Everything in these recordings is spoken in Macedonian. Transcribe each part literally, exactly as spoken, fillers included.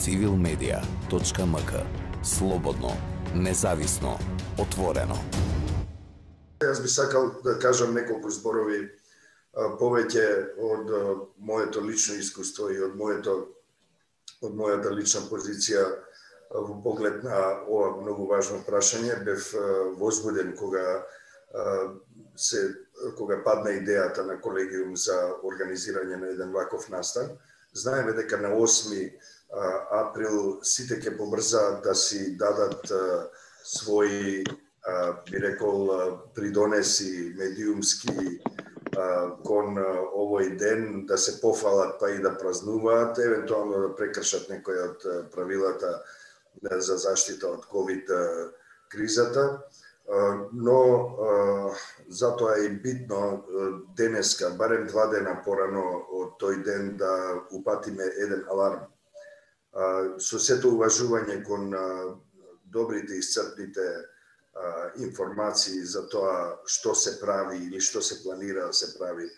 цивил медија точка ем ка. Слободно, независно, отворено. Јас би сакал да кажам неколку зборови повеќе од моето лично искуство и од моето од мојата лична позиција во поглед на ова многу важно прашање. Бев возбуден кога се кога падна идејата на колегиум за организирање на еден ваков настан. Знаеме дека на осми април сите ќе побрзаат да си дадат своји, би рекол, придонеси медиумски кон овој ден, да се пофалат па и да празнуваат, евентуално да прекршат некои од правилата за заштита од ковид кризата. Но затоа е битно денеска, барем два дена порано од тој ден, да упатиме еден аларм. Со сето уважување кон добрите и исцрпните информации за тоа што се прави или што се планира да се прави,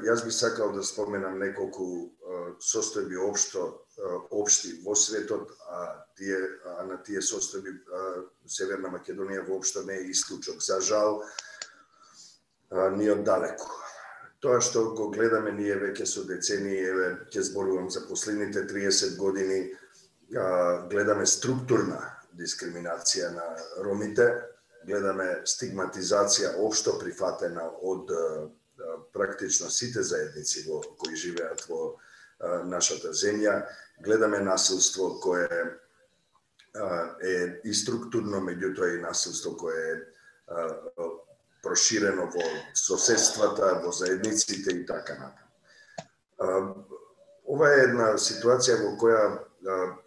јас би сакал да споменам неколку состојби општо општи во светот, а тие а на тие состојби Северна Македонија воопшто не е исклучок. За жал, ни оддалеку. Тоа што го гледаме ние веќе со децении, еве ќе зборувам за последните триесет години, гледаме структурна дискриминација на ромите, гледаме стигматизација општо прифатена од практично сите заедници во кои живеат во нашата земја, гледаме насилство кое е и структурно, меѓутоа и насилство кое е проширено во соседствата, во заедниците и така натаму. Ова е една ситуација во која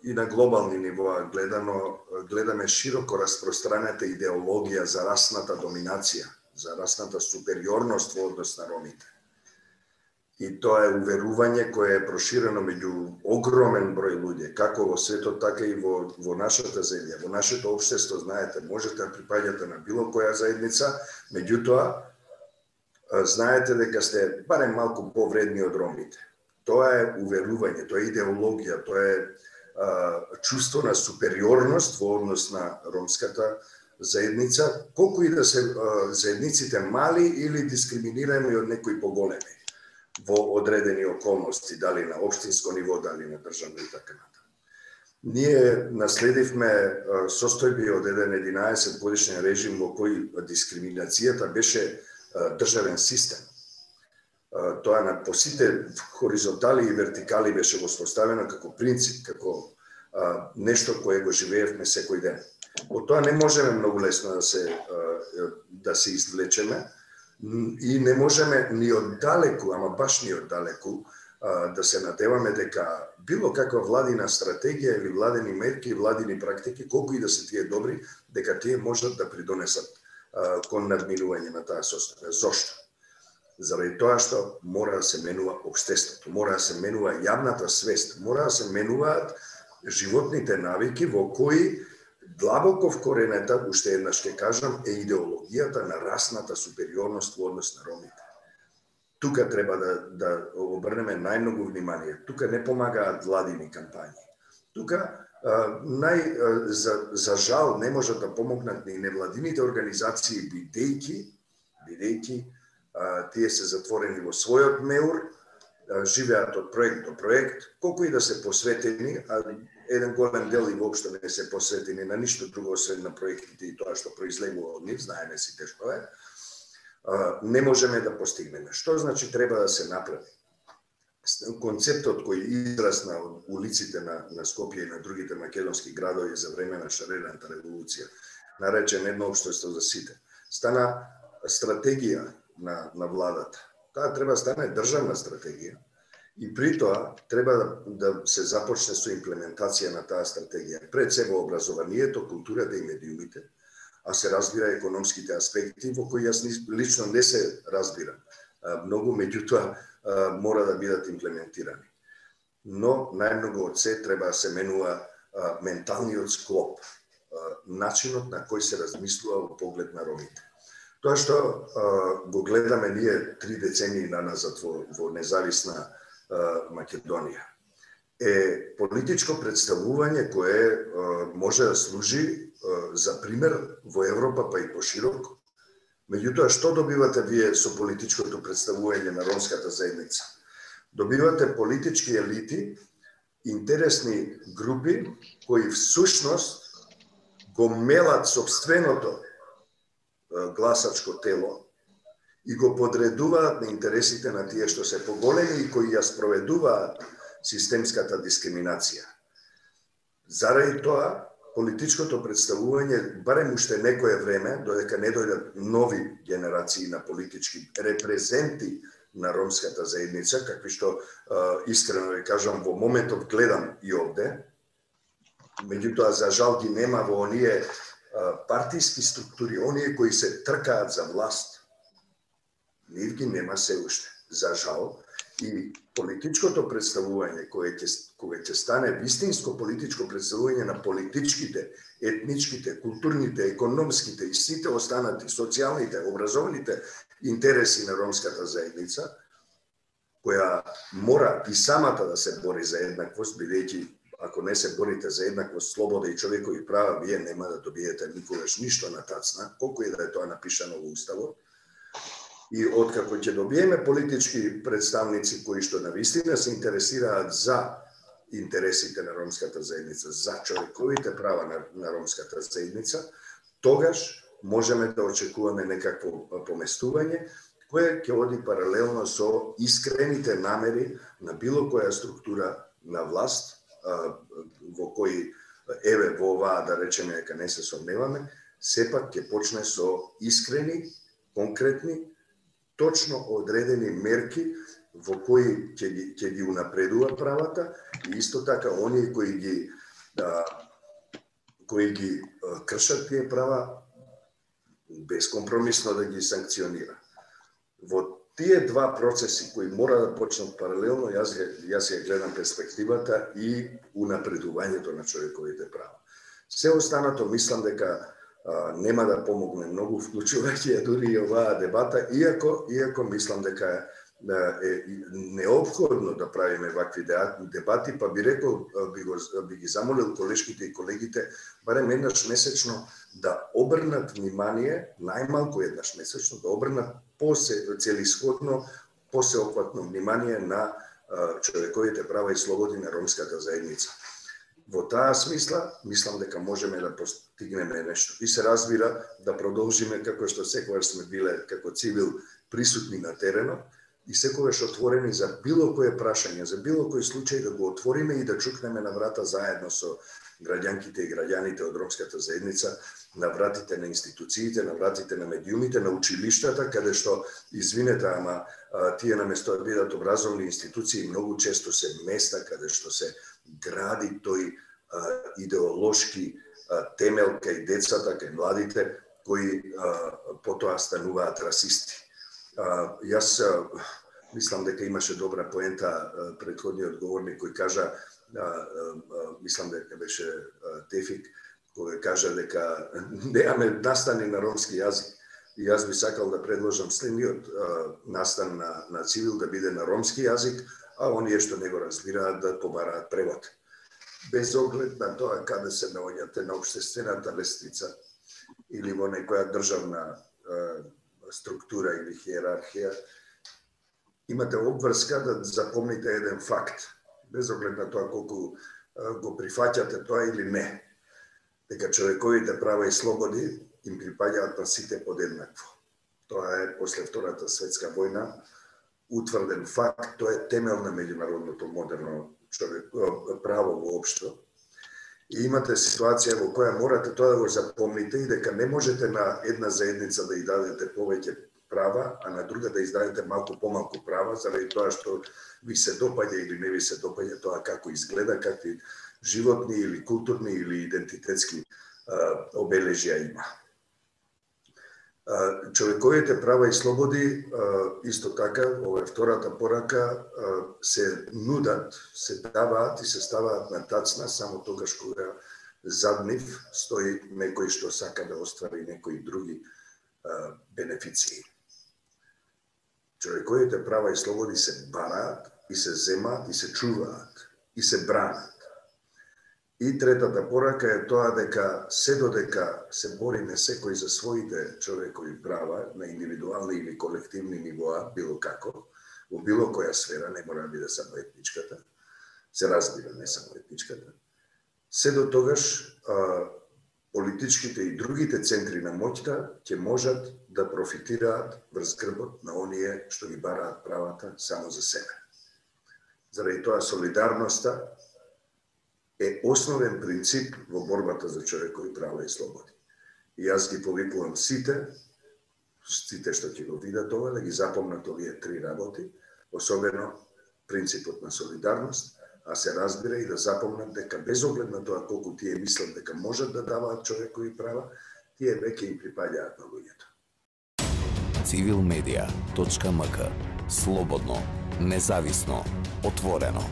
и на глобални нивоа гледано, гледаме широко распространета идеологија за расната доминација, за расната супериорност во однос на ромите. И тоа е уверување кое е проширено меѓу огромен број луѓе, како во светот, така и во, во нашата земја, во нашето општество. Знаете, можете да припаѓате на било која заедница, меѓутоа знаете дека сте барем малку повредни од ромите. Тоа е уверување, тоа е идеологија, тоа е а, чувство на супериорност во однос на ромската заедница, колку и да се а, заедниците мали или дискриминирани од некои поголеми во одредени околности, дали на општинско ниво, дали на државно и така натаму. Ние наследивме состојби од еден единаесет годишен режим во кој дискриминацијата беше државен систем. Тоа на по сите хоризонтали и вертикали беше воспоставено како принцип, како а, нешто кое го живеевме секој ден. Од тоа не можеме многу лесно да се а, да се извлечеме и не можеме ни оддалеку, ама баш ни оддалеку, а, да се надеваме дека било каква владина стратегија или владени мерки, владини практики, колку и да се тие добри, дека тие можат да придонесат а, кон надминување на таа состојба. Зошто? Заради тоа што мора да се менува општеството, мора да се менува јавната свест, мора да се менуваат животните навики во кои длабоко вкоренета, уште еднаш ќе кажам, е идеологијата на расната супериорност во однос на ромите. Тука треба да, да обрнеме најмногу внимание. Тука не помагаат владини кампањи. Тука нај, за, за жал не можат да помогнат ни невладините организации, бидејќи, бидејќи тие се затворени во својот меур, живеат од проект до проект, колку и да се посветени, а еден голем дел и воопшто не се посветени на ништо друго освен на проектите и тоа што произлегува од нив, знаеме сите што е, не можеме да постигнеме. Што значи треба да се направи? Концептот кој израсна од улиците на, на Скопје и на другите македонски градови за време на шарената револуција, наречен едно општество за сите, стана стратегија на, на владата. Таа треба да стане државна стратегија и при тоа треба да, да се започне со имплементација на таа стратегија. Пред се во образованието, културата и медиумите, а се разбира економските аспекти во кои јас лично не се разбирам многу, меѓутоа мора да бидат имплементирани. Но најмногу од се треба да се менува менталниот склоп, начинот на кој се размислува во поглед на ромите. Тоа што а, го гледаме ние три децении наназад во, во независна а, Македонија е политичко представување кое може да служи за пример во Европа па и пошироко. Меѓутоа, што добивате вие со политичкото представување на ромската заедница? Добивате политички елити, интересни групи кои всушност го мелат собственото гласачко тело и го подредуваат на интересите на тие што се поголеми и кои ја спроведуваат системската дискриминација. Заради тоа, политичкото представување, барем уште некое време, додека не дојдат нови генерации на политички репрезенти на ромската заедница, какви што, искрено ви кажам, во моментов гледам и овде, меѓутоа, за жал ги нема во оние партиски структури, оние кои се тркаат за власт, нив ги нема се уште, за жал. И политичкото представување, кое ќе, кое ќе стане вистинско политичко представување на политичките, етничките, културните, економските и сите останати социјалните, образовните интереси на ромската заедница, која мора и самата да се бори за еднаквост, бидејќи ако не се борите за еднаквост, слобода и човекови права, вие нема да добиете никогаш ништо на тацна, колку и да е тоа напишано во Уставот. И откако ќе добиеме политички представници кои што навистина се интересираат за интересите на ромската заедница, за човековите права на, на ромската заедница, тогаш можеме да очекуваме некакво поместување кое ќе оди паралелно со искрените намери на било која структура на власт, во кои, еве во оваа да речеме дека не се сомневаме, сепак ќе почне со искрени, конкретни, точно одредени мерки во кои ќе ги, ќе ги унапредува правата и исто така оние кои ги да, кои ги кршат тие права безкомпромисно да ги санкционира. Во тие два процеси кои мора да почнат паралелно, јас јас ја гледам перспективата и унапредувањето на човековите права. Се останато мислам дека а, нема да помогне многу, вклучувајќи ја дури и оваа дебата, иако иако мислам дека е, е неопходно да правиме вакви дебати, па би рекол, би, го, би ги замолил колешките и колегите барем еднаш месечно да обрнат внимание, најмалку еднаш месечно, да обрнат целисходно, посеопфатно внимание на а, човековите права и слободи на ромската заедница. Во таа смисла, мислам дека можеме да постигнеме нешто. И се разбира да продолжиме како што секогаш сме биле како цивил присутни на теренот и секогаш отворени за било кое прашање, за било кој случај да го отвориме и да чукнеме на врата заедно со граѓанките и граѓаните од ромската заедница, на вратите на институциите, на вратите на медиумите, на училиштата, каде што, извинете, ама тие наместо да бидат образовни институции, многу често се места каде што се гради тој а, идеолошки а, темел кај децата, кај младите, кои а, потоа стануваат расисти. А, јас а, мислам дека имаше добра поента а, претходниот говорник кој кажа, а, а, мислам дека беше а, Тефик, кој кажа дека немаме настани на ромски јазик. И јас би сакал да предложам следниот а, настан на, на цивил да биде на ромски јазик, а оние што не го разбираат да побараат превод. Без оглед на тоа каде се наоѓате на општествената лестница или во некоја државна а, структура или хиерархија, имате обврска да запомните еден факт, без оглед на тоа колку а, го прифаќате тоа или не, дека човековите права и слободи им припаѓаат на сите подеднакво. Тоа е после Втората светска војна утврден факт, тоа е темел на меѓународното модерно човек, право воопшто. И имате ситуација во која морате тоа да го запомните и дека не можете на една заедница да ја дадете повеќе права, а на друга да издадете малку помалку права, заради тоа што ви се допаѓа или не ви се допаѓа тоа како изгледа, какви животни или културни или идентитетски а, обележја има. Човековите права и слободи, исто така, ова е втората порака, се нудат, се даваат и се ставаат на тацна само тогаш кога зад нив стои некој што сака да оствари некои други бенефиции. Човековите права и слободи се бараат и се земаат и се чуваат. и се бранат. И третата порака е тоа дека се додека се бориме секој за своите човекови права на индивидуални или колективни нивоа, било како, во било која сфера, не мора да биде само етничката, се разбира, не само етничката, се до тогаш а, политичките и другите центри на моќта ќе можат да профитираат врз грбот на оние што ги бараат правата само за себе. Заради тоа солидарноста е основен принцип во борбата за човекови права и слободи. И јас ги повикувам сите, сите што ќе го видат ова, да ги запомнат овие три работи, особено принципот на солидарност, а се разбира и да запомнат дека без оглед на тоа колку тие мислат дека можат да даваат човекови права, тие веќе им припаѓаат на луѓето. цивил медија точка ем ка. Слободно, независно, отворено.